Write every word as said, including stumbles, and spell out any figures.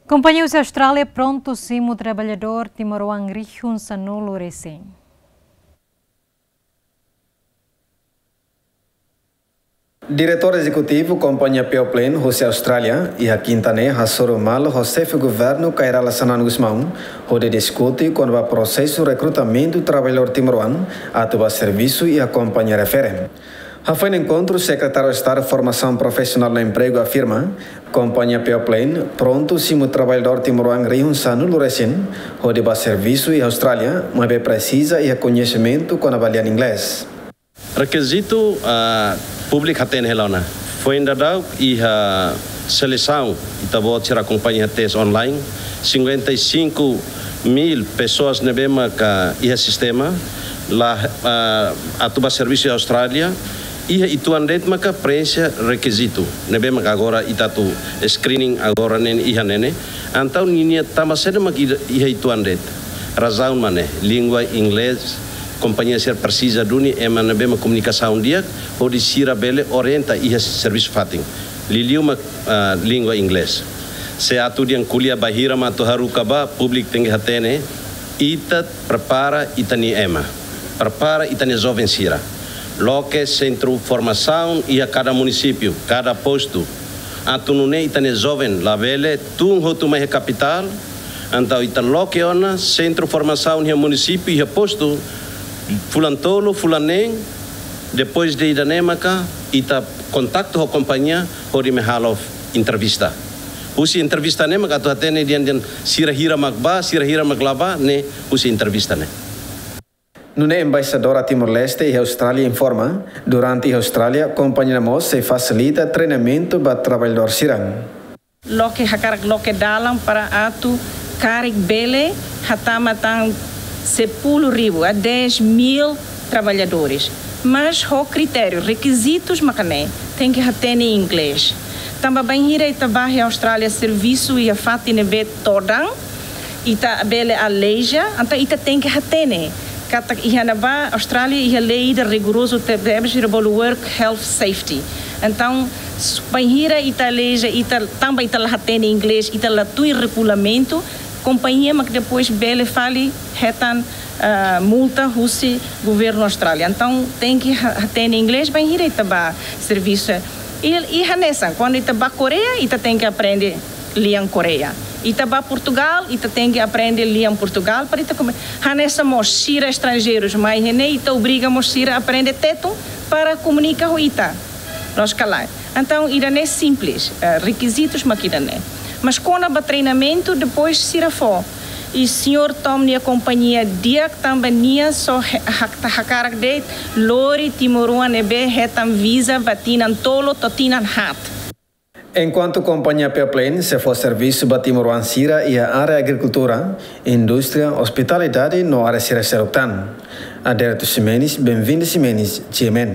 Kompañia husi Austrália prontu simu traballadór timoroan rihun sanulu resin. Diretór Ezekutivu Kompañia Peoplane husi Austrália, iha kinta ne'e hasoru malu ho Xefe Governu Kay Rala Xanana Gusmão, hodi diskute kona-ba prosesu rekrutamentu traballadór timoroan atu ba servisu iha kompañia refere. Hafoin enkontru, Sekretáriu Estadu Formasaun Profisionál no Empregu afirma, Kompañia Peoplane prontu simu traballadór timoroan rihun sanulu resin, hodi ba servisu iha Austrália, maibé presiza iha koñesimentu kona-ba lian inglés. Rekizitu, ah, públiku hatene hela ona. Foin daudauk iha selesaun, ita-boot sira akompaña iha teste online, cinquenta e cinco mil pessoas ne'ebé maka iha sistema, la, ah, atu ba servisu iha Austrália, iha uitoan de'it maka preenxe rekizitu ne'ebé maka agora ita atu screening agora ne'e iha ne'e. Entaun ninia tanba saida maka iha uitoan de'it. Razaun mak ne'e, língua inglés, kompañia sira presiza duni ema ne'ebé mak komunikasaun di'ak, hodi sira bele orienta iha servisu fatin. Liuliu mak, ah, língua inglés. Se atu dehan ko'alia bainhira mak atu haruka ba, públiku tenke hatene, ita prepara ita-nia ema, prepara ita-nia joven sira. Loke sentru formasaun iha kada munisípiu, kada postu. Atu nune'e ita-nia joven labele tun hotu mai iha kapitál, entaun ita loke ona sentru formasaun iha munisípiu, iha postu, fulan tolu, fulan neen, depois de ida-ne'e maka ita kontaktu ho kompañia hodi mai halo entrevista. Husi entrevista ne'e maka atu hatene dehan, dehan sira hira mak ba, sira hira mak la ba, ne'e husi entrevista ne'e. Nune'e Embaixadora Timor-Leste iha Austrália informa, durante iha Austrália, kompañia mós sei fasilita treinamentu ba traballadór sira. Loke hakarak loke dalan para atu karik bele hatama tan sepuluh ribu a dez mil traballadores. Mas ho kritériu, rekizitus maka ne'e, tenke hatene inglés. Tanba bainhira ita ba iha Austrália servisu iha fatin ne'ebé todan, ita bele aleija, entaun ita tenke hatene katak iha ne'ebá Austrália iha lei ida rigorozu tebes, ida bolu Work Health Safety. Entaun, s-, bainhira ita aleija, ita, tanba ita la hatene inglés, ita la tuir regulamentu, kompañia mak depois bele fali hetan, ah, multa husi governu Austrália. Entaun, tenke ha-, hatene inglés bainhira ita ba servisu. I, i hanesan, kuandu ita ba Koreia, ita tenke aprende lian Koreia. Ita ba Portugal, ita tenke aprende lian Portugal, para ita kome-, hanesan mós sira estranjeirus mai iha ne'e, ita obriga mós sira aprende tetun para komunika ho ita. Loos ka lae? Entaun, ida-ne'e simples, eh, rekizitus mak ida-ne'e. Mas kona-ba treinamentu, depois sira fó. I señór Tom nia kompañia di'ak tanba nia só he-, hak-, hakarak de'it lori timoroan ne'ebé hetan viza ba tinan tolu to'o tinan haat. Enkuantu kompañia Peoplane sei fó servisu ba timoroan sira iha área agrikultura, indústria, ospitalidade no área sira seluk tan. Adérito Ximenes, Benvinda Ximenes, G M N.